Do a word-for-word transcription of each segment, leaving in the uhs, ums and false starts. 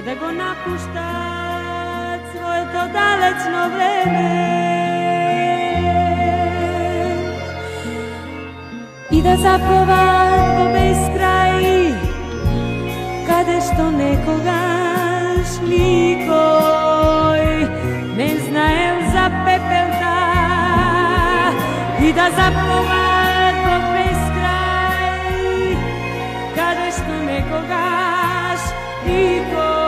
Да го напуштат своето далечно време и да заплуват во безкрај, каде што некогаш никој не знаел за пепелта, и да заплуват во безкрај, каде што некогаш никој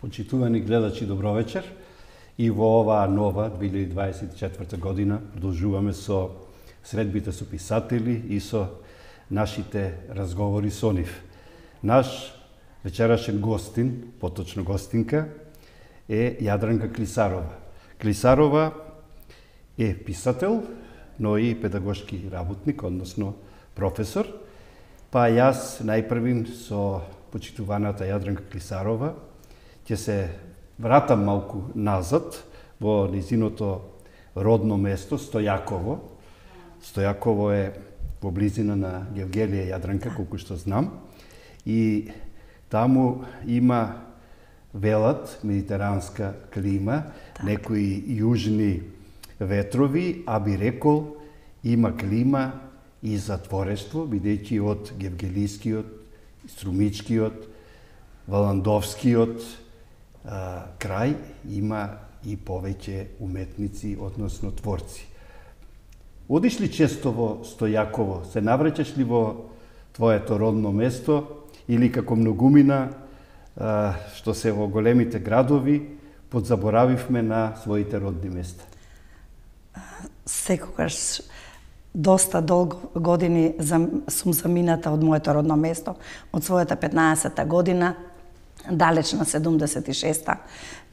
Почитувани гледачи, добро вечер. И во оваа нова две илјади дваесет и четврта година продолжуваме со средбите со писатели и со нашите разговори со нив. Наш вечерашен гостин, поточно гостинка, е Јадранка Клисарова. Клисарова е писател, но и педагошки работник, односно професор. Па јас најпрвим со почитуваната Јадранка Клисарова ќе се вратам малку назад во низиното родно место Стојаково. Стојаково е во близина на Гевгелија Јадранка, колку што знам. И таму има, велат, медитеранска клима, так, некои јужни ветрови, а би рекол има клима и затворештво, бидејќи од Гевгелискиот, Струмичкиот, Валандовскиот а, крај има и повеќе уметници, односно творци. Одиш ли често во Стојаково? Се навраќаш ли во твоето родно место или како многумина а, што се во големите градови подзаборавивме на своите родни места? Секогаш доста долго години сум замината од моето родно место, од својата петнаесета година, далеч на седумдесет и шеста.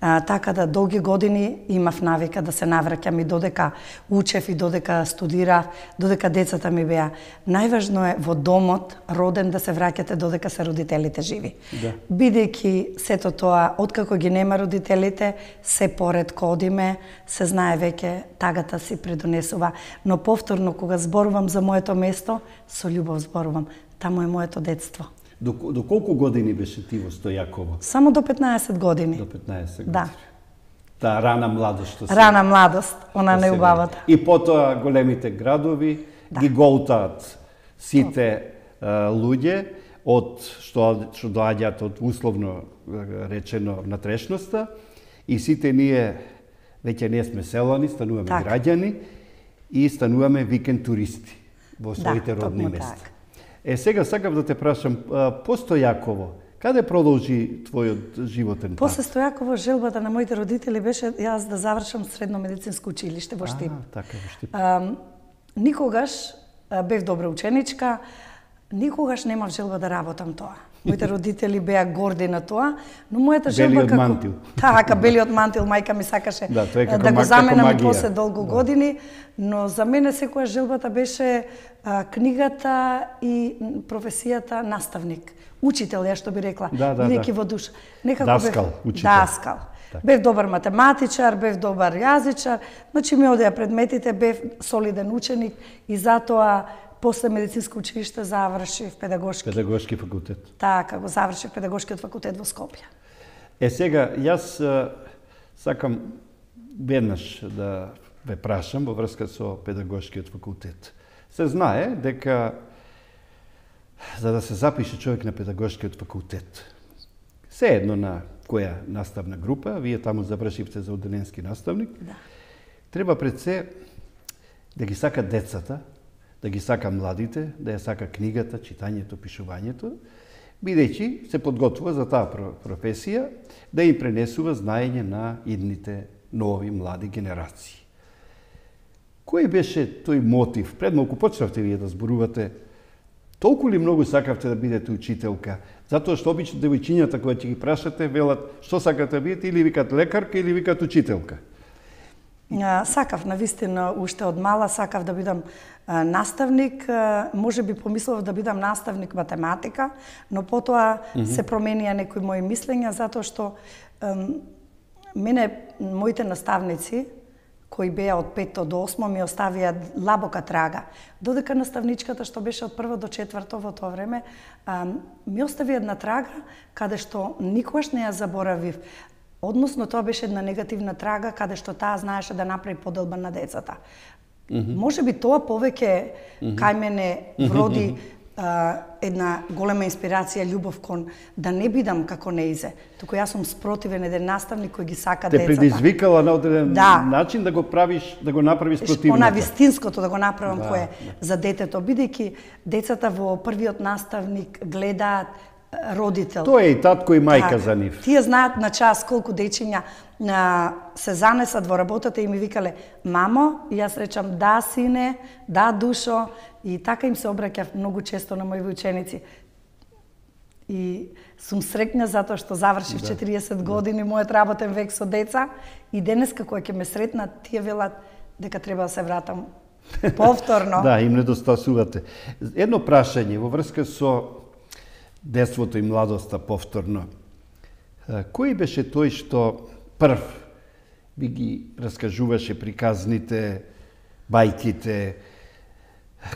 А, така да долги години имав навика да се навраќам и додека учев и додека студирав, додека децата ми беа. Најважно е во домот роден да се враќате додека се родителите живи. Да. Бидејќи сето тоа, откако ги нема родителите, се поредко одиме, се знае веќе тагата си предонесува. Но повторно кога зборувам за моето место, со љубов зборувам. Таму е моето детство. До, до колку години беше ти во Стојаково? Само до петнаесет години. До петнаесет години. Да. Таа рана младост што се... Рана младост, она не убавата. И потоа големите градови, да, ги голтаат сите а, луѓе од што што доаѓаат од условно речено натрешноста, и сите ние веќе не сме селани, стануваме так, граѓани и стануваме викенд туристи во своите да, родни места. Так. Е, сега сакам да те прашам, по Стојаково, каде продолжи твојот животен пат? После Стојаково желбата на моите родители беше јас да завршам средно медицинско училиште во Штип. А, така, во Штип. А, никогаш бев добра ученичка, никогаш немав желба да работам тоа. Моите родители беа горди на тоа, но мојата желба како... Белиот мантил. Така, белиот мантил, мајка ми сакаше да, да го заменам и после долго да. години, но за мене секоја желбата беше а, книгата и професијата наставник. Учител, ја што би рекла, да, да, бидејќи да. во душа. Некако Даскал, бев... учител. Даскал. Так. Бев добар математичар, бев добар јазичар, значи ми одеа предметите, бев солиден ученик и затоа после медицинско училиште завршив педагошки. Педагошки факултет. Така, го завршив педагошкиот факултет во Скопје. Е, сега, јас а, сакам веднаш да ве прашам во врска со педагошкиот факултет. Се знае дека за да се запише човек на педагошкиот факултет, се едно на која наставна група, вие таму завршивте за одделенски наставник, да, треба пред се да ги сака децата, да ги сака младите, да ја сака книгата, читањето, пишувањето, бидејќи се подготвува за таа професија, да им пренесува знаење на идните нови млади генерации. Кој беше тој мотив? Пред малку почнавте вие да зборувате Толку ли многу сакавте да бидете учителка? Затоа што обично девојчињата кога ќе ги прашате велат што сакате да бидете, или викат лекарка или викат учителка. Сакав навистина уште од мала сакав да бидам наставник, може би помислав да бидам наставник математика, но потоа mm -hmm. се променија некои мои мислења затоа што мене моите наставници кои беа од петто до осмо ми оставија лабока трага. Додека наставничката што беше од прво до четврто во тоа време ми остави една трага каде што никогаш не ја заборавив. Односно, тоа беше една негативна трага, каде што таа знаеше да направи поделба на децата. Mm -hmm. Може би тоа повеќе mm -hmm. кај мене вроди а, една голема инспирација, љубов кон да не бидам како неизе. Туку јас сум спротивен еден наставник кој ги сака Те децата. Те предизвикала на одреден да. начин да го правиш, да го направиш противното. Она вистинското да го направам да, кое да. за детето, бидејќи децата во првиот наставник гледаат родител. Тоа е и татко и мајка так, за нив. Тие знаат на час колку дечиња а, се занесат во работата и ми викале мамо, и јас речам да сине, да душо, и така им се обраќав многу често на мои ученици. И сум среќна затоа што завршив да, четириесет години да. мојот работен век со деца и денеска кога ќе ме сретнат, тие велат дека треба да се вратам повторно. Да, им недостасувате. Едно прашање во врска со детството и младоста повторно. Кој беше тој што прв би ги раскажуваше приказните, бајките,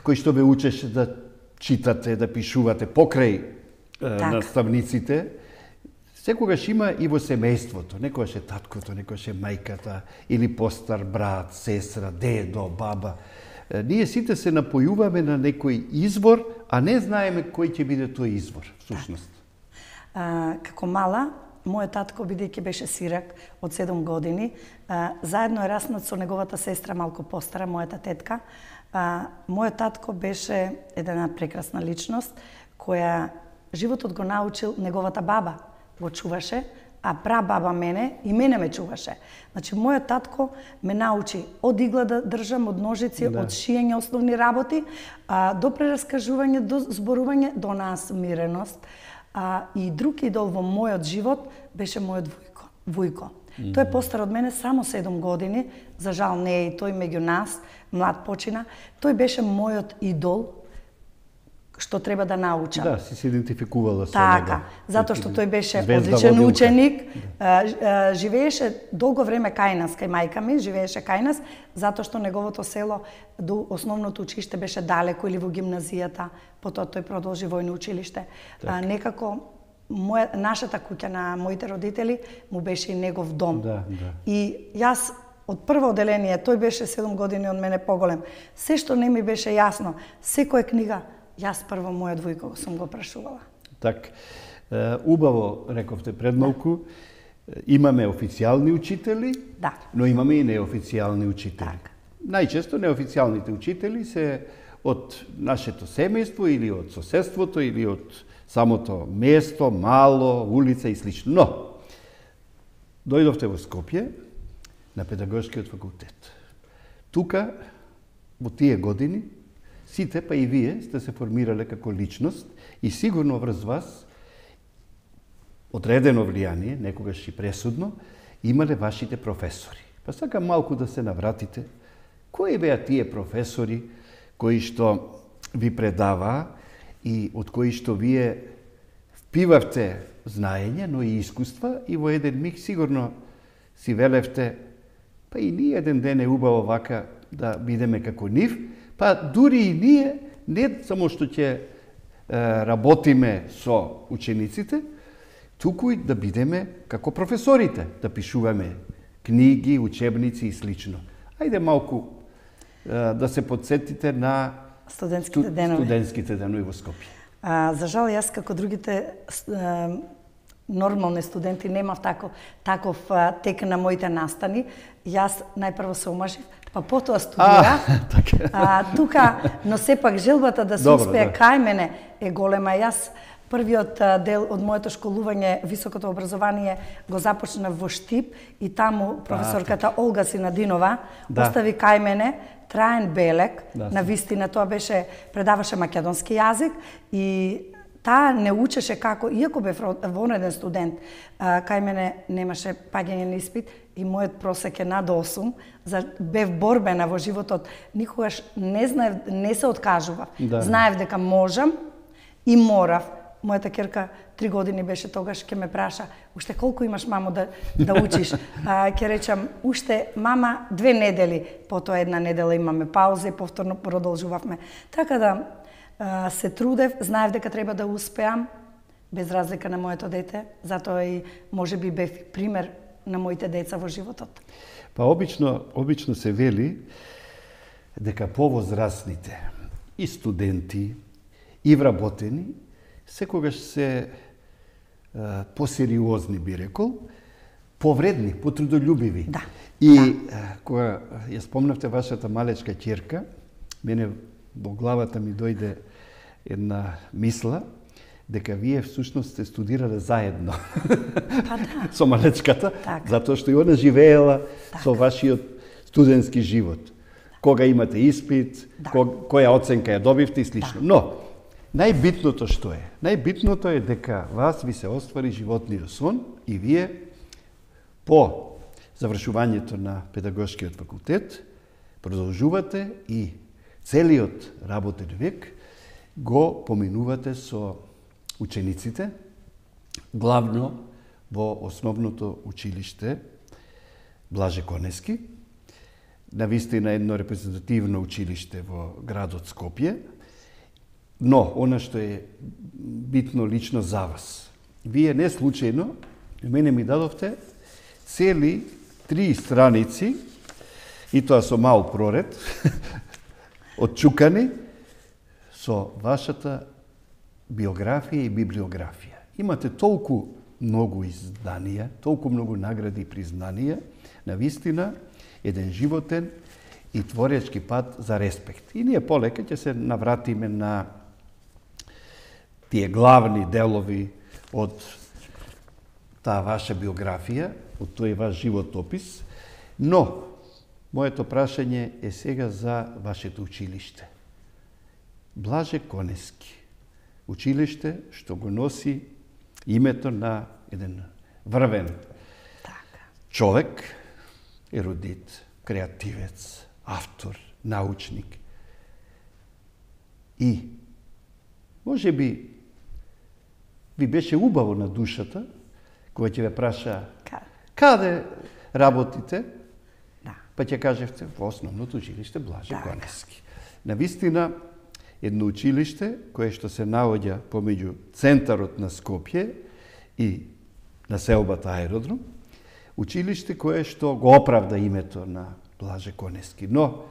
кој што ве учеше да читате, да пишувате покрај так. наставниците? Секогаш има и во семејството. Некогаш е таткото, некогаш е мајката, или постар брат, сестра, дедо, баба. Ние сите се напојуваме на некој извор, а не знаеме кој ќе биде тој извор, всушност. А, како мала, мојот татко, бидејќи беше сирак од седум години, а, заедно е раснат со неговата сестра малку постара, мојата тетка. А, мојот татко беше една прекрасна личност, која животот го научил неговата баба, го чуваше, а прабаба мене и мене ме чуваше. Значи, мојот татко ме научи од игла да држам, од ножици, да. од шијање основни работи, а, до прераскажување, до зборување, до насмиреност. А, и друг идол во мојот живот беше мојот вујко. вујко. Mm -hmm. Тој е постар од мене само седум години, за жал не е и тој меѓу нас, млад почина. Тој беше мојот идол, што треба да научам. Да, си се идентификувала со така, него. Така, затоа што тој беше Звезда одличен водилка. ученик, да. живееше долго време кај нас, кај мајка ми, живееше кај нас, затоа што неговото село до основното училиште беше далеко или во гимназијата, потоа тој продолжи војно училиште. А, некако моја, нашата куќа на моите родители му беше и негов дом. Да, да. И јас од прво одделение, тој беше седум години од мене поголем. Се што не ми беше јасно, секоја книга, јас прво мојот вујко сум го прашувала. Так, убаво рековте пред малку, имаме официјални учители, да. но имаме и неофицијални учители. Так. Најчесто неофицијалните учители се од нашето семејство или од соседството или од самото место, мало, улица и слично. Но, дојдовте во Скопје на педагошкиот факултет. Тука, во тие години, сите, па и вие, сте се формирале како личност и сигурно врз вас одредено влијание, некогаш и пресудно, имале вашите професори. Па сакам малку да се навратите. Кои беа тие професори кои што ви предаваа и од кои што вие впивавте знаење, но и искуства и во еден миг сигурно си велевте па и ние еден ден е убаво вака да бидеме како нив, па дури и ние не само што ќе е, работиме со учениците, туку и да бидеме како професорите, да пишуваме книги, учебници и слично. Ајде малку е, да се подсетите на студентските денови. Студентските денови во Скопје. А, за жал, јас како другите е, нормални студенти немав тако, таков а, тек на моите настани. Јас најпрво се омажив, па потоа студирав. А, тука, но сепак желбата да се Добро, успее да. кај мене е голема. Јас првиот а, дел од моето школување, високото образование, го започна во Штип и таму професорката а, Олга Синадинова да. Остави кај мене траен белег. Да, на вистина тоа беше, предаваше македонски јазик и таа не учеше како, иако бев вонреден студент, а, кај мене немаше паѓање на испит и мојот просек е над осум, за бев борбена во животот, никогаш не знаев, не се откажував. Да. Знаев дека можам и морав. Мојата ќерка три години беше тогаш, ќе ме праша, уште колку имаш, мамо, да, да учиш? А, ќе речам, уште, мама, две недели, потоа една недела имаме пауза и повторно продолжувавме. Така да, а, се трудев, знаев дека треба да успеам, без разлика на моето дете, затоа и може би бев пример на моите деца во животот. Па обично, обично се вели дека повозрастните и студенти и вработени секогаш се а, посериозни, би рекол, повредни, потрудолюбиви. Да. И да. А, кога ја спомнавте вашата малечка ќерка, мене во главата ми дојде една мисла дека вие всушност сте студирале заедно. Па да. Со малечката, так. затоа што и она живеела так. со вашиот студентски живот. Кога имате испит, да. која оценка ја добивте и слично. Да. Но, најбитното што е? Најбитното е дека вас ви се оствари животниот сон и вие по завршувањето на педагошкиот факултет продолжувате и целиот работен век го поминувате со учениците, главно во основното училиште Блаже Конески, навистина едно репрезентативно училиште во градот Скопје. Но, она што е битно лично за вас, вие не случајно, мене ми дадовте цели три страници, и тоа со мал проред, отчукани, со вашата биографија и библиографија. Имате толку многу изданија, толку многу награди и признанија, навистина, еден животен и творечки пат за респект. И ние полека ќе се навратиме на тие главни делови од таа ваша биографија, од тој ваш животопис, но моето прашање е сега за вашето училиште. Блаже Конески. Училиште што го носи името на еден врвен така. човек, ерудит, креативец, автор, научник. И може би ви беше убаво на душата, кога ќе ве праша каде работите, да. Па ќе кажевте во основното училиште Блаже да. Конески. Навистина, едно училиште кое што се наоѓа помеѓу центарот на Скопје и населбата Аеродром, училиште кое што го оправда името на Блаже Конески. Но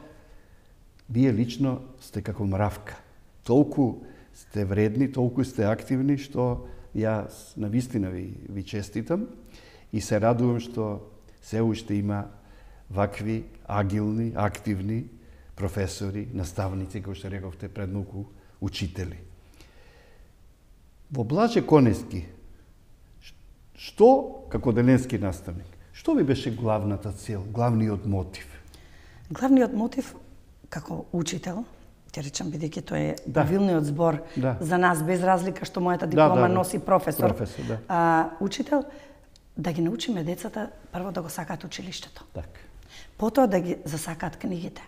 вие лично сте како мравка. Толку сте вредни, толку сте активни, што јас навистина ви, ви честитам и се радувам што се уште има вакви агилни, активни професори, наставници, кои што рековте пред многу учители. Во Блаже Конески, што, како денески наставник, што ви беше главната цел, главниот мотив? Главниот мотив, како учител, ќе речам, бидејќи тој е да. правилниот збор да. за нас, без разлика што мојата диплома да, да, да. носи професор, професор да. а, учител, да ги научиме децата прво да го сакаат училиштето. Так. Потоа да ги засакаат книгите.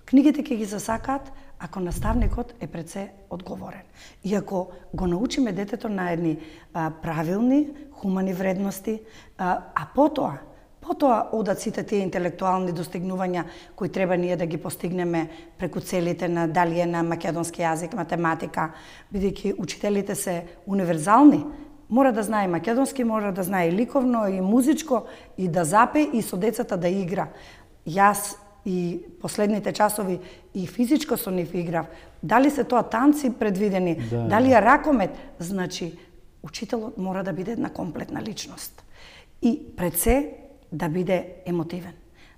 Книгите ќе ги засакаат ако наставникот е пред се одговорен. И ако го научиме детето на едни а, правилни, хумани вредности, а, а потоа, потоа одат сите тие интелектуални достигнувања кои треба ние да ги постигнеме преку целите на дали е на македонски јазик, математика, бидејќи учителите се универзални, мора да знае македонски, мора да знае и ликовно, и музичко, и да запе, и со децата да игра. Јас и последните часови и физичко со нив играв. Дали се тоа танци предвидени, да. дали е ракомет, значи учителот мора да биде една комплетна личност. И пред се да биде емотивен,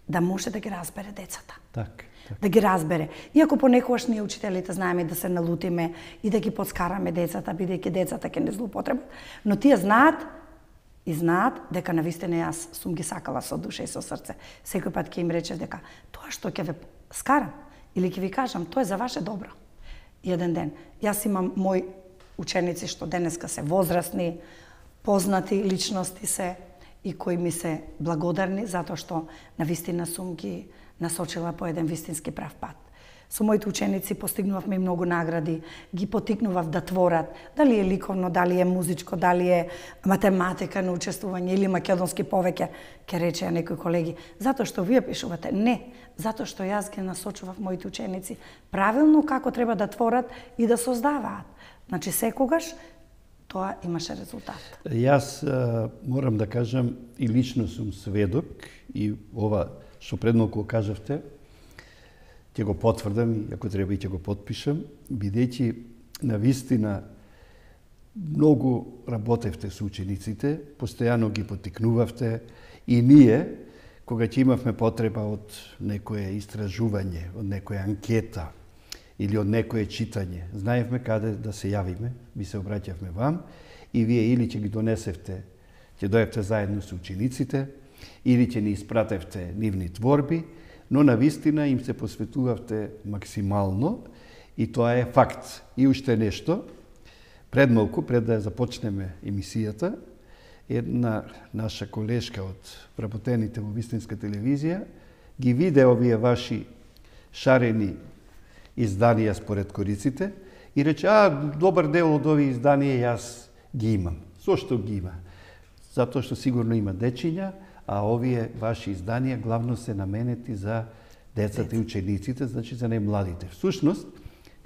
да може да ги разбере децата. Так. да ги разбере. Иако понекогаш ние учителите знаеме да се налутиме и да ги подскараме децата, бидејќи децата ќе не злоупотребат, но тие знаат и знаат дека навистина јас сум ги сакала со душа и со срце. Секој пат ќе им рече дека тоа што ќе ве скарам или ќе ви кажам, тоа е за ваше добро. И еден ден, јас имам мои ученици што денеска се возрастни, познати личности се и кои ми се благодарни затоа што навистина сум ги насочила по еден вистински прав пат. Со моите ученици постигнувавме многу награди, ги потикнував да творат, дали е ликовно, дали е музичко, дали е математика на учествување или македонски повеќе, ке речеа некои колеги, затоа што вие пишувате. Не, затоа што јас ги насочував моите ученици правилно како треба да творат и да создаваат. Значи секогаш тоа имаше резултат. Јас а, морам да кажам и лично сум сведок и ова што предмалку кажавте, ќе го потврдам и ако треба и ќе го потпишам, бидејќи навистина многу работевте со учениците, постојано ги потикнувавте и ние, кога ќе имавме потреба од некое истражување, од некоја анкета или од некое читање, знаевме каде да се јавиме, ви се обраќавме вам и вие или ќе ги донесевте, ќе дојдете заедно со учениците, или ќе ни испратевте нивни творби, но навистина им се посветувавте максимално и тоа е факт. И уште нешто, пред малку, пред да започнеме емисијата, една наша колешка од вработените во Вистинска телевизија ги виде овие ваши шарени изданија според кориците и рече, а, добар дел од овие изданија јас ги имам. Зошто ги има? Затоа што сигурно има дечиња, а овие ваши изданија главно се наменети за децата и учениците, значи за најмладите. Всушност,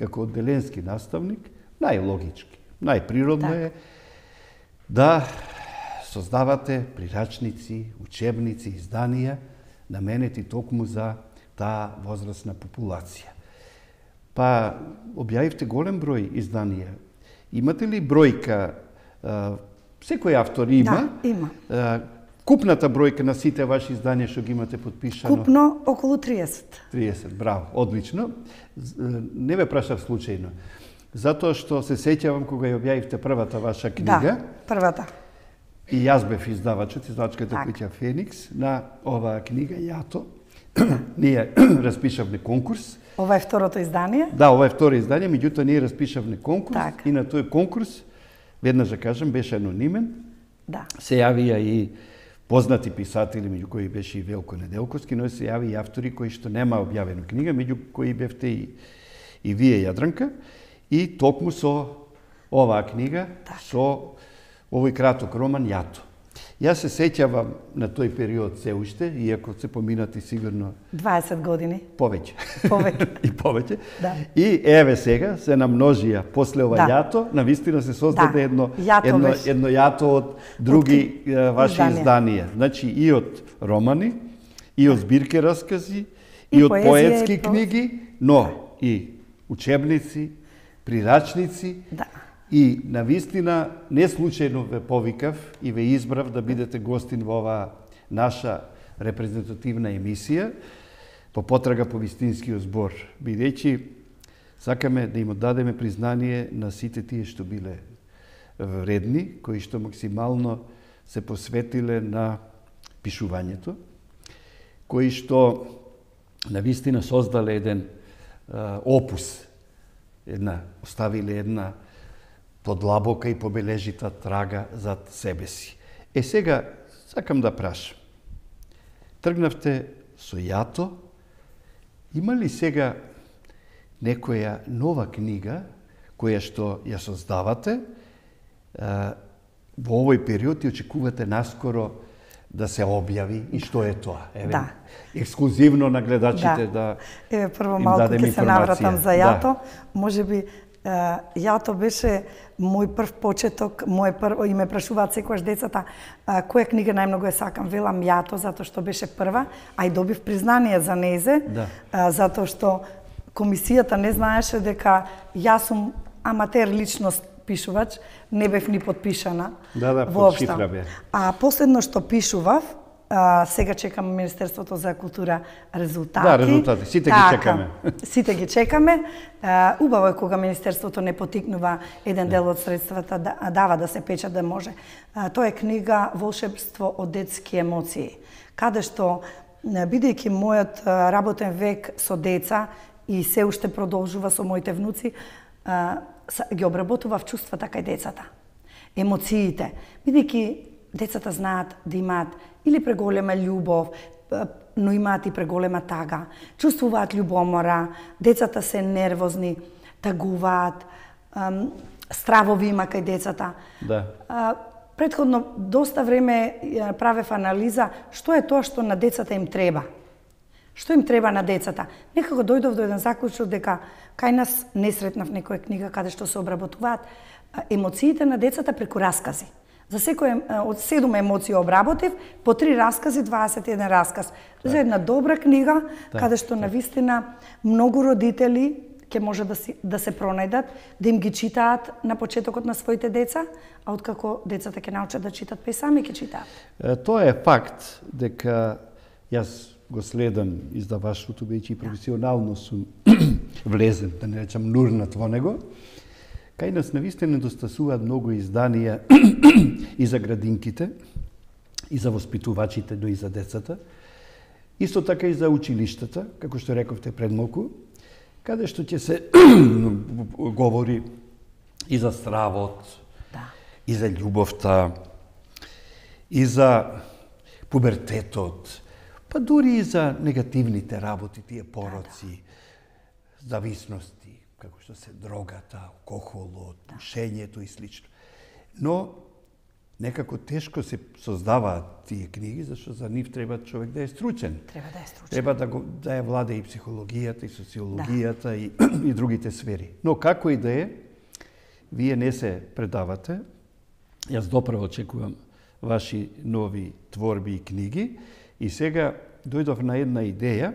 како одделенски наставник, најлогички, најприродно е да создавате прирачници, учебници, изданија, наменети токму за таа возрастна популација. Па, објавивте голем број изданија. Имате ли бројка, секој автор има? Да, има. Купната бројка на сите ваши изданија што ги имате подпишано? Купно околу триесет. триесет, браво, одлично. Не ве прашав случајно. Затоа што се сеќавам кога ја објавивте првата ваша книга. Да, првата. И јас бев издавачот, издавачката так. куќа Феникс, на оваа книга Јато. Ние распишавме конкурс. Ова е второто издание? Да, ова е второ издание, меѓутоа ние распишавме конкурс так. И на тој конкурс, веднаш да кажам, беше анонимен. Да. Се јавија и познати писатели, меѓу кои беше и Велко Неделковски, но се јави и автори кои што нема објавена книга, меѓу кои бевте и, и вие, Јадранка, и токму со оваа книга, так. со овој краток роман Јато. Јас се сеќавам на тој период се уште, иако се поминати сигурно дваесет години. Повеќе. Повеќе. И повеќе. Да. И еве сега се намножија после ова да. Јато, навистина се создаде да. едно Јато едно беше. едно Јато од други од... ваши изданија. изданија. Значи и од романи, и од збирки раскази, и, и од поетски и книги, но и учебници, прирачници. Да. И навистина не случајно ве повикав и ве избрав да бидете гостин во оваа наша репрезентативна емисија по потрага по вистинскиот збор, бидејќи сакаме да им оддадеме признание на сите тие што биле вредни, кои што максимално се посветиле на пишувањето, кои што навистина создале еден а, опус, една, оставиле една подлабока и побележита трага зад себе си. Е сега, сакам да прашам. Тргнавте со Јато, има ли сега некоја нова книга која што ја создавате а, во овој период и очекувате наскоро да се објави и што е тоа? Еве, да. Ексклузивно на гледачите да, да Еве, прво малку ќе се навратам за Јато. Да. Може би Јато беше мој прв почеток, мој прв, и ме прашуваат секогаш децата која книга најмногу ја сакам. Велам Јато, затоа што беше прва, а и добив признание за незе, да. затоа што комисијата не знаеше дека јас сум аматер личност пишувач, не бев ни подпишана. Да, да, воопшто. под шифра бе. А последно што пишував, А, сега чекаме Министерството за култура резултати. Да, резултати. Сите така, ги чекаме. Сите ги чекаме. А, убаво е кога Министерството не потикнува еден дел од средствата да дава да се печат да може. А, тоа е книга Волшебство од детски емоции, каде што бидејќи мојот работен век со деца и се уште продолжува со моите внуци, а, ги обработував чувствата кај децата, емоциите, бидејќи децата знаат да имаат или преголема љубов, но имаат и преголема тага, чувствуваат љубомора, децата се нервозни, тагуваат, стравови има кај децата. Да. Претходно доста време правев анализа што е тоа што на децата им треба. Што им треба на децата? Некако дојдов до еден заклучок дека кај нас не сретнав некоја книга каде што се обработуваат емоциите на децата преку раскази. За секој од седум емоции обработив, по три раскази, дваесет и еден расказ. За една добра книга, так, каде што навистина многу родители ќе може да, си, да се пронајдат, да им ги читаат на почетокот на своите деца, а откако децата ќе научат да читат, па и сами ќе читаат. Тоа е факт дека јас го следам издаваштвото, веќе и професионално сум влезен, да не речам нурнат во него. Кај нас навистина недостасуваат многу изданија и за градинките, и за воспитувачите, но и за децата. Исто така и за училиштата, како што рековте пред малку, каде што ќе се говори и за стравот, да, и за љубовта, и за пубертетот, па дури и за негативните работи, тие пороци, да, да, зависности, како што се дрогата, алкохолот, пушењето и слично. Но некако тешко се создаваат тие книги, зашто за нив треба човек да е стручен. Треба да е стручен. Треба да, го, да ја владе и психологијата, и социологијата, да, и, и другите сфери. Но како и да е, вие не се предавате. Јас доправо очекувам ваши нови творби и книги. И сега дојдов на една идеја,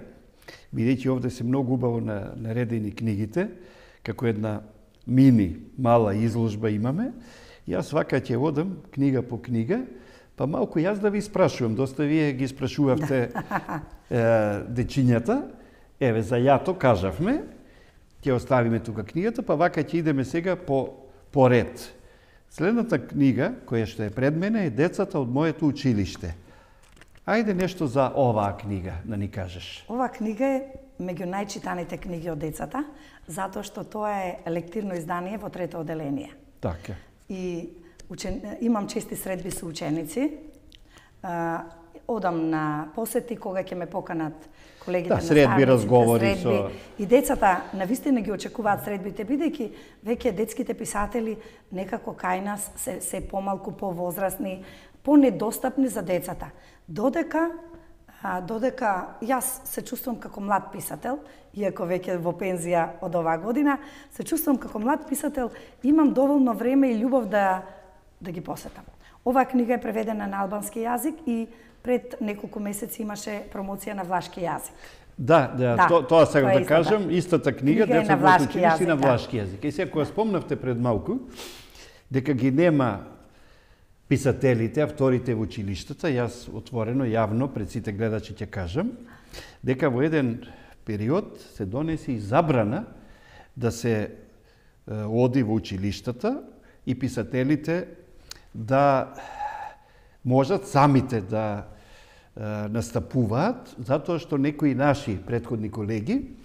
бидејќи овде се многу убаво наредени книгите, како една мини, мала изложба имаме. Јас вака ќе одам книга по книга, па малку јас да ви спрашувам, доста вие ги спрашувавте е, дечињата, еве за јато кажавме, ќе оставиме тука книгата, па вака ќе идеме сега по, по ред. Следната книга, која што е пред мене, е Децата од моето училиште. Ајде нешто за оваа книга да ни кажеш. Оваа книга е меѓу најчитаните книги од децата, затоа што тоа е лектирно издание во трето оделение. Така. И учен... имам чести средби со ученици. А, одам на посети кога ќе ме поканат колегите, да, средби, разговори средби. со... И децата навистина ги очекуваат средбите, бидејќи веќе детските писатели некако кај нас се, се помалку повозрасни, понедостапни за децата. Додека а, додека јас се чувствувам како млад писател, иако веќе во пензија од оваа година, се чувствувам како млад писател, имам доволно време и љубов да да ги посетам. Оваа книга е преведена на албански јазик и пред неколку месеци имаше промоција на влашки јазик. Да, да, да, то, тоа сега да кажам, истата книга, книга Деца во училиште на влашки јазик. И сега кога спомнавте пред малку дека ги нема писателите, авторите во училиштата, јас отворено, јавно, пред сите гледачи ќе кажам, дека во еден период се донеси и забрана да се е, оди во училиштата и писателите да можат самите да е, настапуваат, затоа што некои наши претходни колеги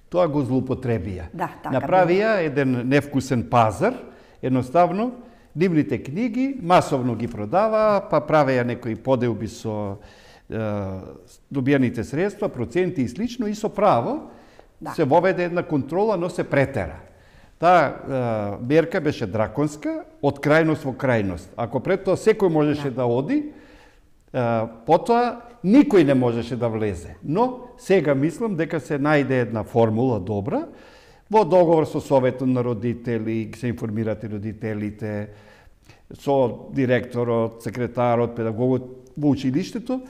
тоа го злоупотребија. Да, така направија еден невкусен пазар, едноставно нивните книги масовно ги продава, па правеја некои поделби со е, добиените средства, проценти и слично, и со право да. Се воведе една контрола, но се претера. Таа е, мерка беше драконска, од крајност во крајност. Ако пред тоа секој можеше да, да оди, е, потоа никој не можеше да влезе. Но сега мислам дека се најде една формула добра, во договор со Советот на родители, се информирате родителите, со директорот, секретарот, педагогот во училиштето,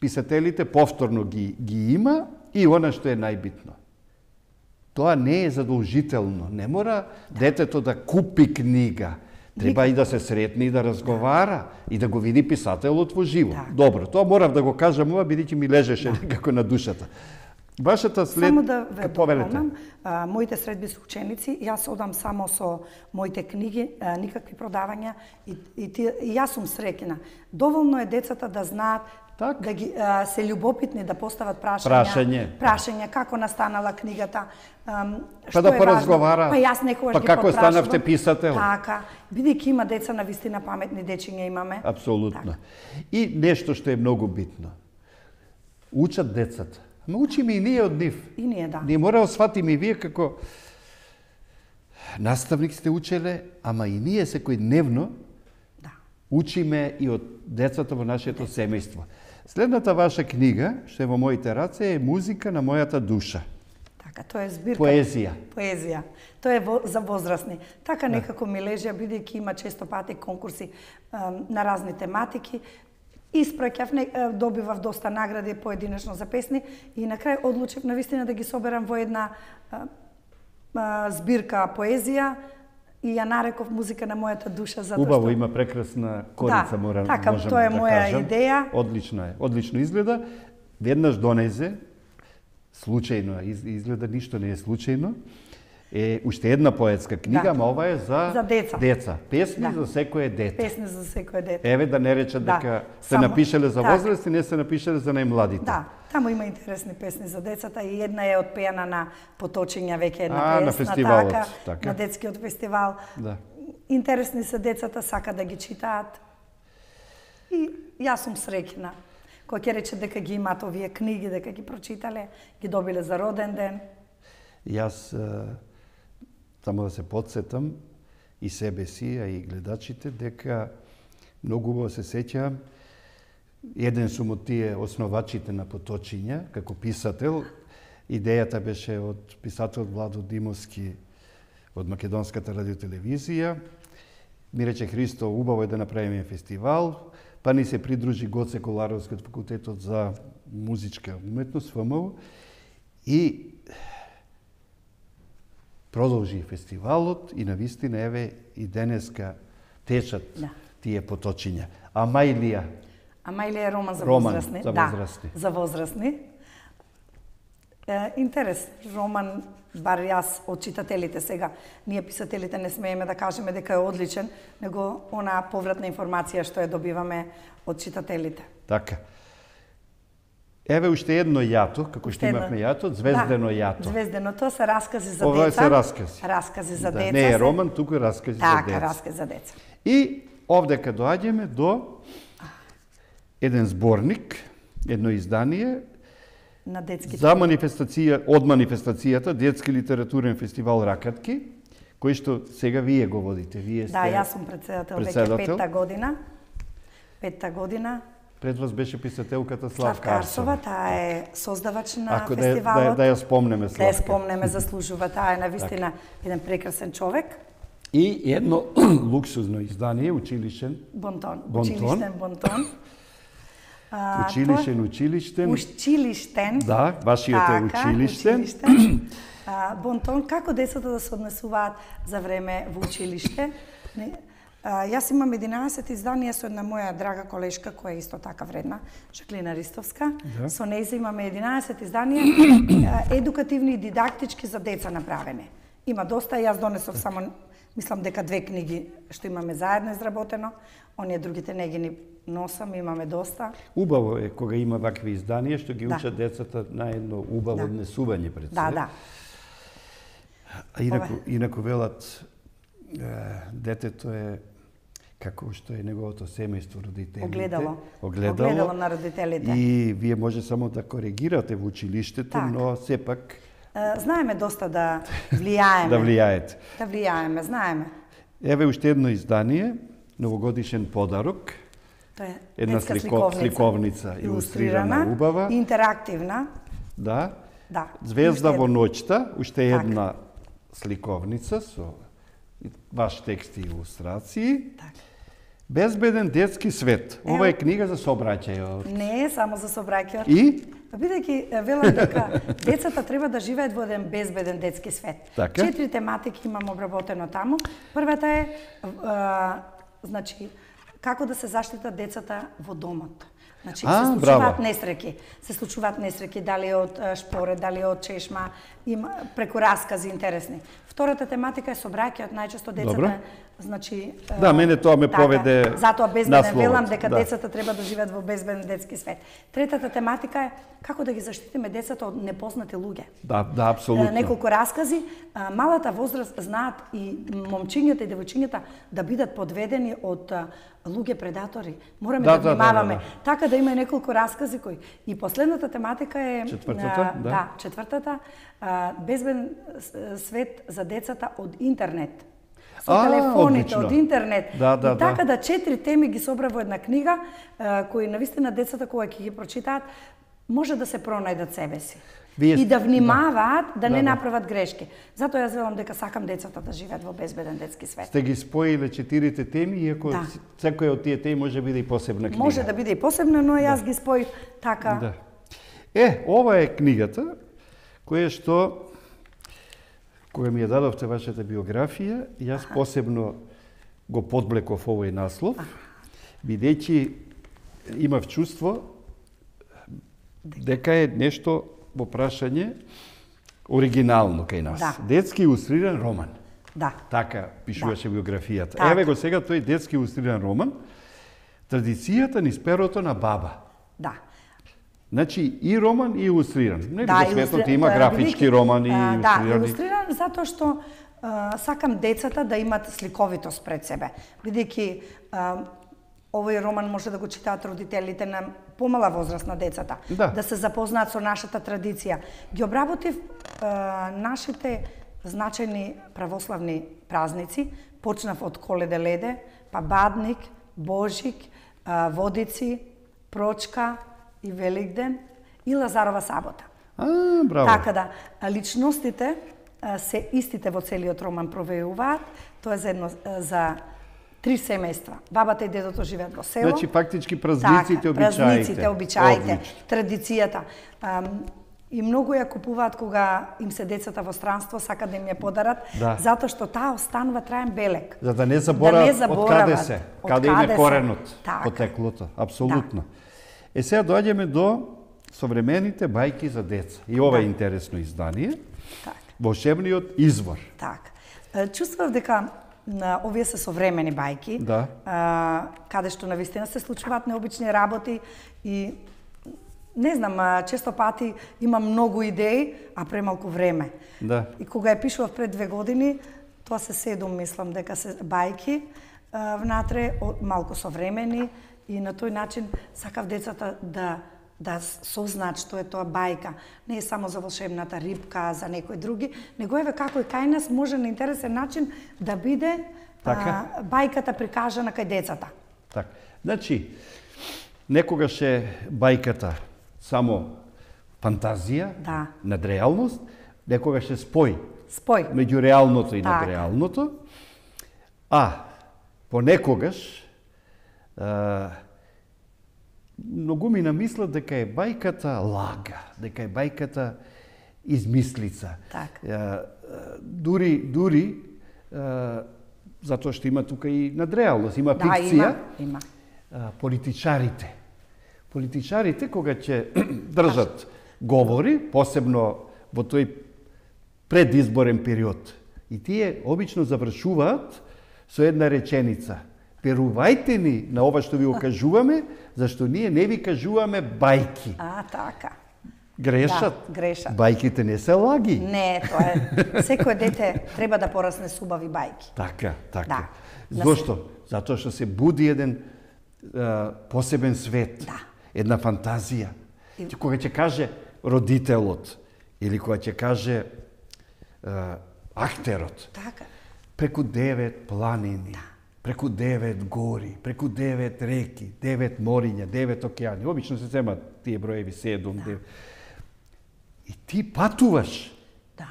писателите повторно ги, ги има и она што е најбитно. Тоа не е задолжително. Не мора детето да купи книга. Треба и да се сретне и да разговара и да го види писателот во живо. Так. Добро, тоа морав да го кажам ова, бидејќи ми лежеше некако на душата. Вашата след... Само да ве повелете. дополнам, а, моите средби се ученици, јас одам само со моите книги, а, никакви продавања и, и, ти, и јас сум среќна. Доволно е децата да знаат, Так. да ги, а, се љубопитни, да постават прашања, Прашање. прашања како настанала книгата, ам, Па што да е важно. поразговара. Па јас некогаш Па ги како потпрашувам. станавте писател? Така, бидејќи има деца на вистина паметни дечиња имаме. Апсолутно. Така. И нешто што е многу битно. Учат децата. Ама учиме и ние од нив. И ние, да. Ние мора да сватиме и вие како наставник сте учеле, ама и ние секојдневно Да. учиме и од децата во нашето семејство. Следната ваша книга, што е во моите раце, е Музика на мојата душа. Така, тоа е збирка. Поезија. Поезија. Тоа е во, за возрастни. Така некако ми лежи, бидејќи има често пати конкурси ем, на разни тематики. Испраќав, не, е, добивав доста награди поединечно за песни и на крај одлучив навистина да ги соберам во една е, е, збирка поезија и ја нареков Музика на мојата душа, затоа Убаво, што... има прекрасна корица, Да, мора, така, можам тоа е да моја кажам. идеја. Одлично е, одлично изгледа. Веднаш донезе, случајно из- изгледа, ништо не е случајно, е уште една поетска книга, Да. ама ова е за, За деца. деца. Песни Да. за секое дете. Песни за секој дете. Еве да не речат Да, дека сте само- напишале за така. возраст и не сте напишале за најмладите. Да, таму има интересни песни за децата и една е отпеана на Поточиња, веќе една А, на песна, фестивалот, така, така. на детскиот фестивал. Да. Интересни се децата, сака да ги читаат. И јас сум среќна. Кој ќе рече дека ги имаат овие книги, дека ги прочитале, ги добиле за роден ден. Јас е, само да се подсетам и себе си, а и гледачите, дека многу убаво се сеќавам, еден сум од тие основачите на Поточиња, како писател. Идејата беше од писател Владо Димовски од Македонската радиотелевизија. Ми рече Христо, убаво е да направиме фестивал, па ни се придружи Гоце Коларовски од факултетот за музичка уметност, ФМУ, и продолжи фестивалот и навистина еве и денеска течат Да. тие Поточиња. А Мајлија, Ама или е роман за Роман возрастни? за Да, возрастни. за возрастни. Е, интерес, роман, бар јас од читателите сега, ние писателите не смееме да кажеме дека е одличен, него она повратна информација што ја добиваме од читателите. така. Еве уште едно јато, како што Уште едно. имавме јато, звездено Да, јато. Звездено, тоа се раскази за Ова деца. се раскази. Раскази за Да, деца. не е се- роман, туку е раскази Така, за деца. раскази за деца. И овдека доаѓаме до еден зборник, едно издание На детските. за манифестација, од манифестацијата Детски литературен фестивал Ракатки, кој што сега вие го водите. Вие сте Да, јас сум председател, веќе председател. петта година. Петта година. Пред вас беше писателката Славка Славка Арсова, Арсова. таа е создавач на Ако да, ја- фестивалот. да, ја- да ја спомнеме Да ја Славка. спомнеме, заслужува. Таа е навистина еден прекрасен човек. И едно луксузно издание, училишен, Бонтон. Бонтон. Училиштен бонтон. А, училишен, училиштен. тоа- Училиштен. Да, вашиот е Така, училиштен. училиштен. А, бонтон, како децата да се однесуваат за време во училиште. Не, а, јас имам единаесет изданија со една моја драга колешка, која е исто така вредна, Жаклина Ристовска. Да. Со нејза имаме единаесет изданија, а, едукативни и дидактички за деца направени. Има доста, јас донесов само, мислам дека две книги што имаме заедно изработено, оние другите не ги ни носам, имаме доста. Убаво е кога има вакви изданија што ги Да. учат децата на едно убаво Да. однесување пред се. Да, да. А инаку, Ова. инаку велат, е, детето е како што е неговото семејство, родителите. Огледало. Огледало. Огледало на родителите. И вие може само да коригирате во училиштето, Така. но сепак Е, Знаеме доста да влијаеме. да влијаете. Да влијаеме, знаеме. Еве уште едно издание, новогодишен подарок, Тоа е една детска слико- сликовница. сликовница, илустрирана, убава. Интерактивна. да, Да. Звезда Уште во една. ноќта, уште Така. една сликовница со ваш текст и илустрации. Така. Безбеден детски свет. Ова е книга за сообраќајот. Не е само за собраќајот. И бидејќи велам дека децата треба да живеат во еден безбеден детски свет. Така. Четири тематики имам обработено таму. Првата е а, значи како да се заштитат децата во домот. Значи, А, се случуваат браво. несреќи. Се случуваат несреќи, дали од а, шпоред, дали од чешма, има преку раскази интересни. Втората тематика е собраќајот, најчесто децата, Добро. значи Да, мене тоа ме така, поведе затоа безбеден насловот, велам дека да. децата треба да живеат во безбеден детски свет. Третата тематика е како да ги заштитиме децата од непознати луѓе. Да, да, апсолутно. Неколку раскази, а, малата возраст знаат и момчињата и девојчињата да бидат подведени од а, луѓе предатори. Мораме Да, да, да, да, внимаваме. да, да. Така да има и неколку раскази кои. И последната тематика е Четвртата, а, да. да, четвртата, а, безбеден с- свет за децата од интернет. Со А, телефоните, одлично. од интернет. Да, да, и така да. да четири теми ги собра во една книга, а, кои навистина децата кога ќе ги прочитаат, може да се пронајдат себе си. Вие И сте- да внимаваат да, Да, не да. направат грешки. Затоа јас велам дека сакам децата да живеат во безбеден детски свет. Сте ги споиле четирите теми, иако Да. секоја од тие теми може биде и посебна книга. Може да биде и посебно, но јас ги споив така. Да. Е, ова е книгата која што кога ми ја дадовте вашата биографија, јас посебно го подблеков овој наслов, бидејќи имав чувство дека е нешто во прашање оригинално кај нас. Да. Детски илустриран роман. Да. Така пишуваше биографијата. Така. Еве го сега тој детски илустриран роман, традицијата низ перото на баба. Да. Значи и роман и илустриран. Нели Да, во светот илустри- има а, графички бидејќи, романи, а, Да, илустрирани. илустриран затоа што а, сакам децата да имат сликовитост пред себе. Бидејќи а, овој роман може да го читаат родителите на помала возраст на децата, Да. да се запознаат со нашата традиција. Ги обработив а, нашите значајни православни празници, почнав од Коледе Леде, па Бадник, Божик, а, Водици, Прочка и Великден и Лазарова сабота. А, браво. Така да, а, личностите а, се истите во целиот роман провеуваат. Тоа е за едно а, за три семејства. Бабата и дедото живеат во село. Значи фактички празниците, обичаите. Празниците, обичаите, Одлично. традицијата. Ам, и многу ја купуваат кога им се децата во странство, сакат да им ја подарат, Да. затоа што таа останува траен белег. За да не заборават да не од каде заборават, се, од каде им каде е се. коренот, Така. потеклото. Апсолутно. Е, сега доаѓаме до современите бајки за деца. И ова е Да. интересно издание. Така. Волшебниот извор. Така. Е, Чувствував дека на овие се современи бајки, Да. а, каде што навистина се случуваат необични работи и не знам, а, често пати имам многу идеи, а премалку време. Да. И кога ја пишував пред две години, тоа се седум, мислам, дека се бајки а, внатре, о- малку современи и на тој начин сакав децата да да сознаат што е тоа бајка. Не е само за волшебната рибка, за некои други, него еве како и кај нас може на интересен начин да биде Така. а, бајката прикажана кај децата. Така. Значи, некогаш е бајката само фантазија, Да. надреалност, некогаш е спој Спој. меѓу реалното и Така. надреалното, а понекогаш а, многу ми намислат дека е бајката лага, дека е бајката измислица. Така. А, а, дури, дури, а, затоа што има тука и надреалност, има Да, фикција, има, има. а, политичарите. Политичарите, кога ќе држат говори, посебно во тој предизборен период, и тие обично завршуваат со една реченица. Верувајте ни на ова што ви го кажуваме, зашто ние не ви кажуваме бајки. А, така. Грешат. Да, грешат. Бајките не се лаги. Не, тоа е. Секој дете треба да порасне с убави бајки. Така, така. Да. Зошто? Затоа што се буди еден а, посебен свет, Да. една фантазија. И- Кога ќе каже родителот или кога ќе каже а, актерот, Така. преку девет планини, преку девет гори, преку девет реки, девет мориња, девет океани. Обично се земат тие броеви седум, девет. И ти патуваш Да.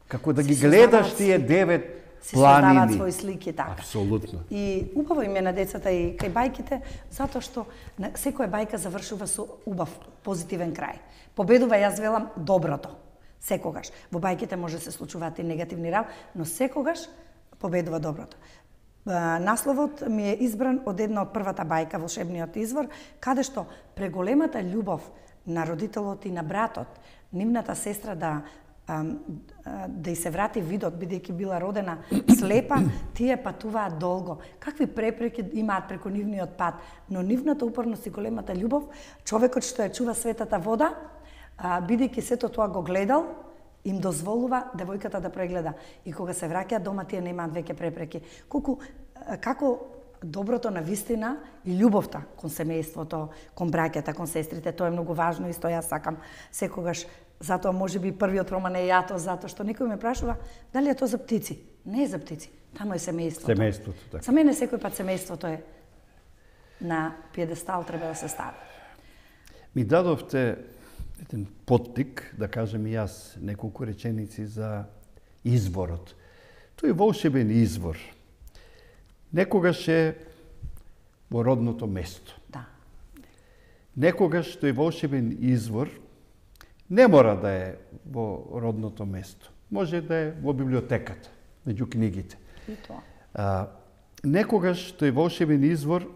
како да ги Се гледаш создаваат тие девет си создаваат планини. свои слики, така. Апсолутно. И убаво им е на децата и кај бајките, затоа што на- секоја бајка завршува со убав, позитивен крај. Победува, јас велам, доброто. Секогаш. Во бајките може да се случуваат и негативни работи, но секогаш победува доброто. А, Насловот ми е избран од една од првата бајка, Волшебниот извор, каде што преголемата љубов на родителот и на братот, нивната сестра да а, а, да и се врати видот, бидејќи била родена слепа, тие патуваат долго. Какви препреки имаат преку нивниот пат, но нивната упорност и големата љубов, човекот што ја чува светата вода, а, бидејќи сето тоа го гледал, им дозволува девојката да прегледа. И кога се враќаат дома, тие немаат веќе препреки. Колку, а, како доброто на вистина и љубовта кон семејството, кон браќата, кон сестрите, тоа е многу важно и што јас сакам секогаш. Затоа можеби првиот роман е Јато, затоа што некој ме прашува дали е тоа за птици. Не е за птици, таму е семејството. Семејството, така. За мене секој пат семејството е на пиедестал треба да се стави. Ми дадовте еден поттик, да кажем и јас неколку реченици за изворот. Тој волшебен извор некогаш е во родното место. Да. Некогаш тој волшебен извор не мора да е во родното место. Може да е во библиотеката, меѓу книгите. И тоа. А, некогаш тој волшебен извор,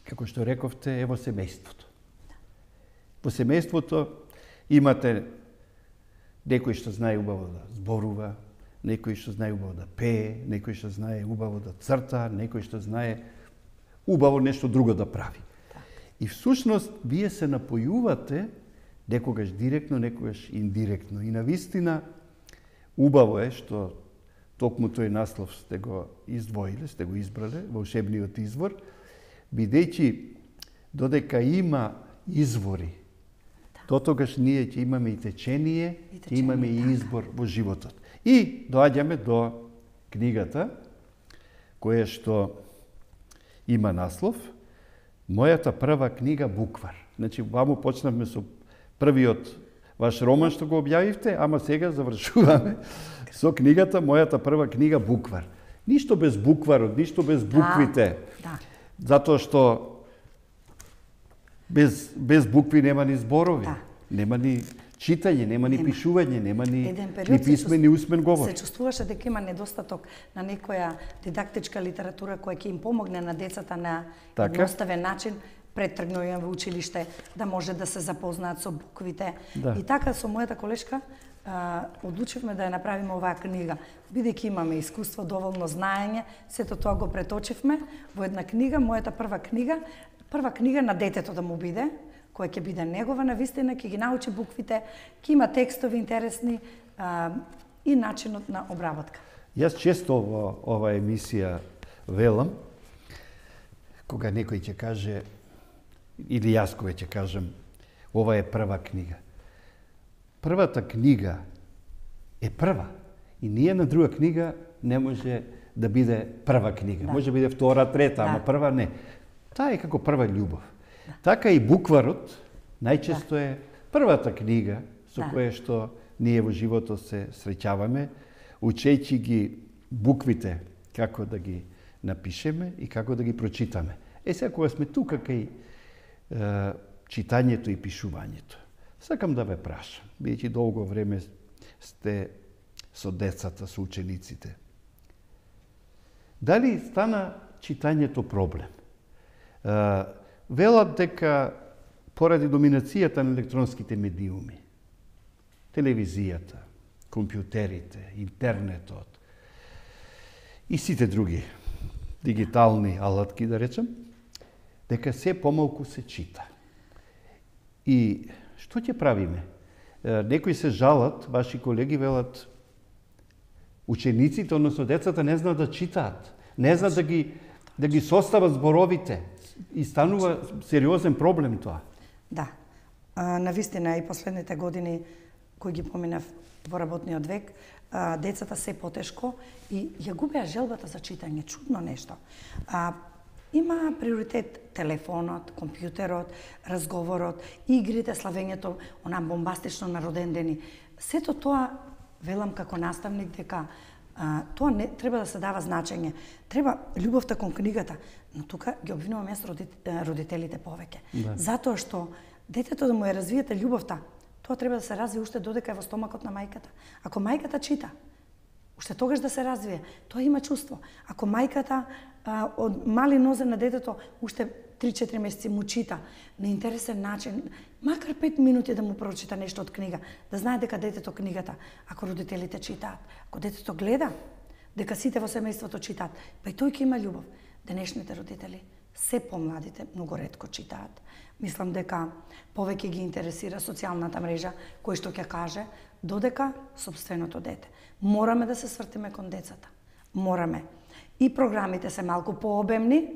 како што рековте, е во семејството. Во семејството имате некој што знае убаво да зборува, некој што знае убаво да пее, некој што знае убаво да црта, некој што знае убаво нешто друго да прави. И всушност вие се напојувате некогаш директно, некогаш индиректно. И навистина убаво е што токму тој наслов сте го издвоиле, сте го избрале, волшебниот извор, бидејќи додека има извори, дотогаш ние ќе имаме и течение, И ќе течение, имаме и така. избор во животот. И доаѓаме до книгата, која што има наслов Мојата прва книга Буквар. Значи, ваму почнавме со првиот ваш роман што го објавивте, ама сега завршуваме со книгата Мојата прва книга Буквар. Ништо без букварот, ништо без буквите. Да. Затоа што без, без букви нема ни зборови, Да. нема ни читање, нема ни Нема. пишување, нема ни, Еден ни период се писмен, ни усмен говор. Се чувствуваше дека има недостаток на некоја дидактичка литература која ќе им помогне на децата на Така. едноставен начин пред тргнување во училиште, да може да се запознаат со буквите. Да. И така со мојата колешка а, одлучивме да ја направиме оваа книга. Бидејќи имаме искуство, доволно знаење, сето тоа го преточивме во една книга, мојата прва книга, прва книга на детето да му биде, која ќе биде негова навистина, ќе ги научи буквите, ќе има текстови интересни а, и начинот на обработка. Јас често во ова емисија велам, кога некој ќе каже, или јас кога ќе кажем, ова е прва книга. Првата книга е прва. И ниједна друга книга не може да биде прва книга. Да. Може да биде втора, трета, Да. ама прва не. Таа е како прва љубов. Да. Така и букварот најчесто е првата книга со Да. која што ние во животот се среќаваме, учејќи ги буквите како да ги напишеме и како да ги прочитаме. Е сега кога сме тука кај е, читањето и пишувањето, сакам да ве прашам, бидејќи долго време сте со децата, со учениците. Дали стана читањето проблем? Е, велат дека поради доминацијата на електронските медиуми, телевизијата, компјутерите, интернетот и сите други дигитални алатки, да речем, дека се помалку се чита. И што ќе правиме? Е, Некои се жалат, ваши колеги велат, учениците, односно децата, не знаат да читаат, не знаат да ги, да ги состават зборовите и станува сериозен проблем тоа. Да. А, навистина и последните години кои ги поминав во работниот век, а, децата се потешко и ја губеа желбата за читање, чудно нешто. А, има приоритет телефонот, компјутерот, разговорот, игрите, славењето, она бомбастично на родендени. Сето тоа велам како наставник дека А, тоа не треба да се дава значење. Треба љубовта кон книгата, но тука ги обвинувам јас родителите повеќе. Да. Затоа што детето да му ја развиете љубовта, тоа треба да се развие уште додека е во стомакот на мајката. Ако мајката чита, уште тогаш да се развие, тоа има чувство. Ако мајката а, од мали нозе на детето уште три-четири месеци му чита на интересен начин, макар пет минути да му прочита нешто од книга, да знае дека детето книгата, ако родителите читаат, ако детето гледа, дека сите во семејството читаат, па и тој ќе има љубов. Денешните родители, се помладите, многу ретко читаат. Мислам дека повеќе ги интересира социјалната мрежа, кој што ќе каже, додека сопственото дете. Мораме да се свртиме кон децата. Мораме. И програмите се малку пообемни,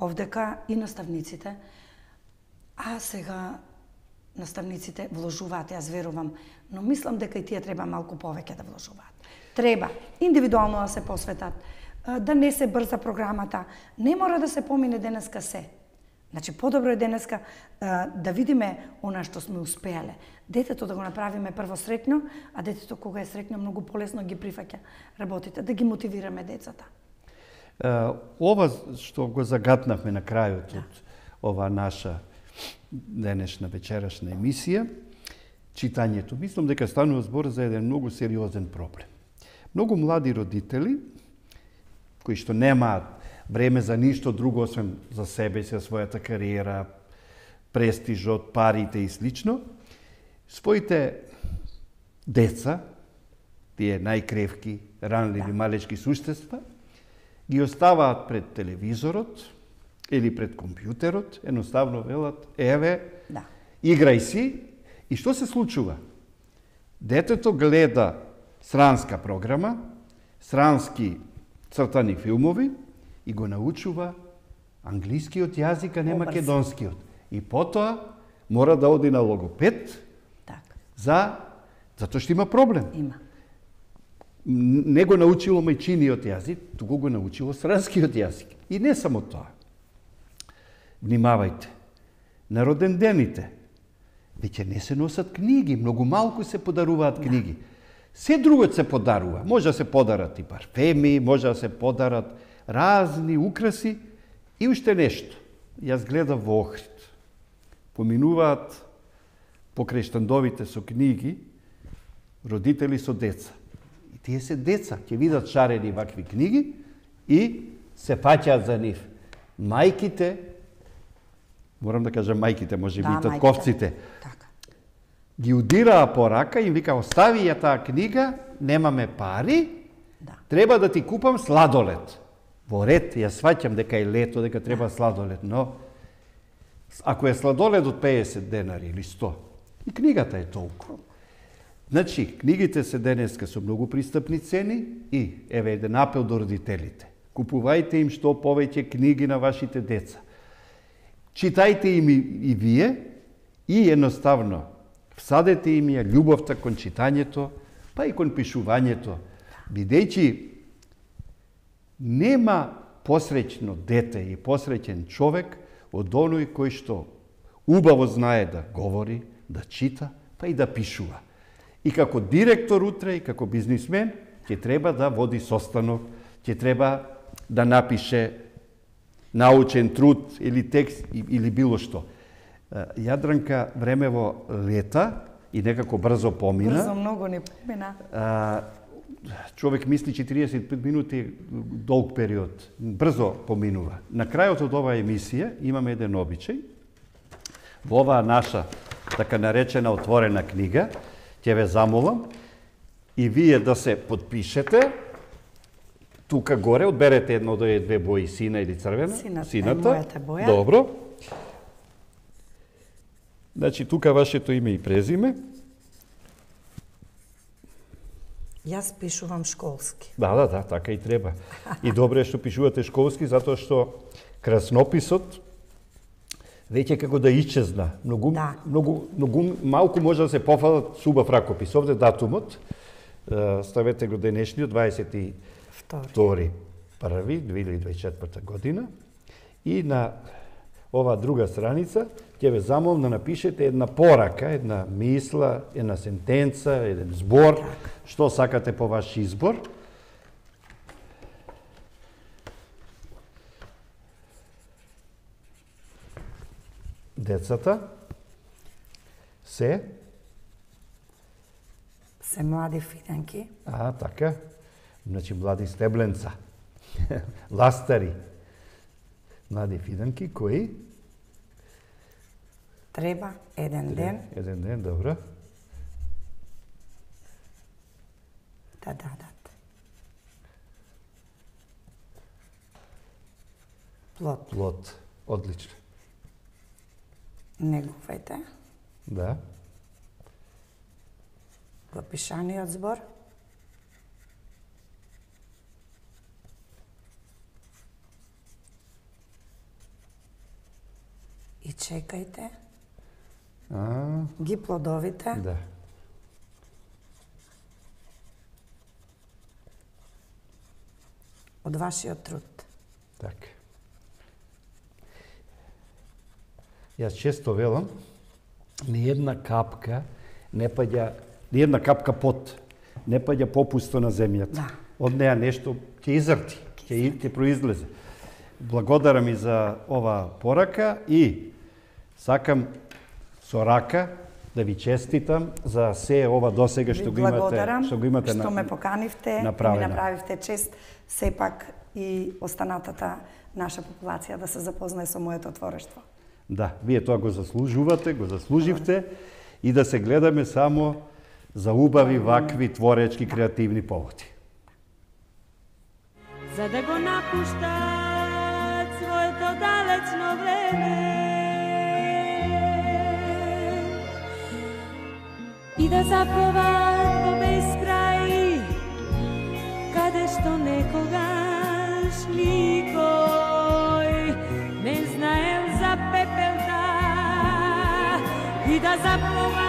овдека и наставниците. А сега наставниците вложуваат, јас верувам, но мислам дека и тие треба малку повеќе да вложуваат. Треба индивидуално да се посветат, да не се брза програмата. Не мора да се помине денеска се. Значи, подобро е денеска да видиме она што сме успеале. Детето да го направиме прво среќно, а детето кога е среќно многу полесно ги прифаќа работите, да ги мотивираме децата. Ова што го загатнавме на крајот од ова наша денешна вечерашна емисија, читањето, мислам дека станува збор за еден многу сериозен проблем. Многу млади родители, кои што немаат време за ништо друго, освен за себе, за својата кариера, престижот, парите и слично, своите деца, тие најкревки, ранливи, малечки суштества, ги оставаат пред телевизорот или пред компјутерот, едноставно велат, еве, да. Играј си, и што се случува? Детето гледа сранска програма, срански цртани филмови и го научува англискиот јазик, а не Обрз. македонскиот. И потоа мора да оди на логопед, Так. за затоа што има проблем. Има. Не го научило мајчиниот јазик, туку го научило сранскиот јазик. И не само тоа. Внимавајте. На родендените веќе не се носат книги, многу малку се подаруваат книги. Се друго се подарува. Може да се подарат и парфеми, може да се подарат разни украси и уште нешто. Јас гледав во Охрид. Поминуваат покрај штандовите со книги родители со деца. И тие се деца, ќе видат шарени вакви книги и се паќаат за нив. Мајките, морам да кажам мајките, може би Да, и татковците, Така. ги удираа по рака и им вика, остави ја таа книга, немаме пари, Да. треба да ти купам сладолед. Во ред, јас сваќам дека е лето, дека треба сладолед, но ако е сладолед од педесет денари или сто, и книгата е толку. Значи, книгите се денеска со многу пристапни цени и, еве, еден апел до родителите. Купувајте им што повеќе книги на вашите деца. Читајте им и, и вие и едноставно всадете им ја љубовта кон читањето, па и кон пишувањето, бидејќи нема посреќно дете и посреќен човек од оној кој што убаво знае да говори, да чита, па и да пишува. И како директор утре, и како бизнисмен, ќе треба да води состанок, ќе треба да напише научен труд или текст или било што. Јадранка, времево лета и некако брзо помина. Брзо многу не помина. А, човек мисли четириесет и пет минути долг период. Брзо поминува. На крајот од оваа емисија имаме еден обичај. Во оваа наша така наречена отворена книга, ќе ве замолам и вие да се подпишете. Тука горе одберете едно од овие две бои, сина или црвена. Сината, Сината. мојата боја. Добро. Значи, тука вашето име и презиме. Јас пишувам школски. Да, да, да, така и треба. И добро е што пишувате школски, затоа што краснописот веќе како да исчезна. Многу, Да. многу, многу малку може да се пофалат субав ракопис. Овде датумот, е, ставете го денешниот, дваесет и втори први две илјади и дваесет и четврта година. И на оваа друга страница ќе ве замолам да напишете една порака, една мисла, една сентенца, еден збор, што сакате по ваш избор. децата се Се млади фиденки. А, така. Значи, млади стебленца. Ластари. Млади фиденки кои Треба еден ден еден ден, добро. да дадат плод. Плод. Одлично. Негувајте Да. го пишаниот збор. И чекајте А, ги плодовите да. од вашиот труд. Така. Јас често велам, ни една капка не паѓа, ни една капка пот не паѓа попусто на земјата. Да. Од неа нешто ќе изрти, ќе ќе произлезе. Благодарам и за ова порака и сакам со рака да ви честитам за се ова досега што го имате, Благодарам што го имате што на, ме поканивте и ми направено. направивте чест сепак и останатата наша популација да се запознае со моето творештво. Да, вие тоа го заслужувате, го заслуживте и да се гледаме само за убави вакви творечки креативни поводи. За да го напуштат своето далечно време и да заплуват во бескрај, каде што некогаш никој не знаел за пепелта, и да заплуват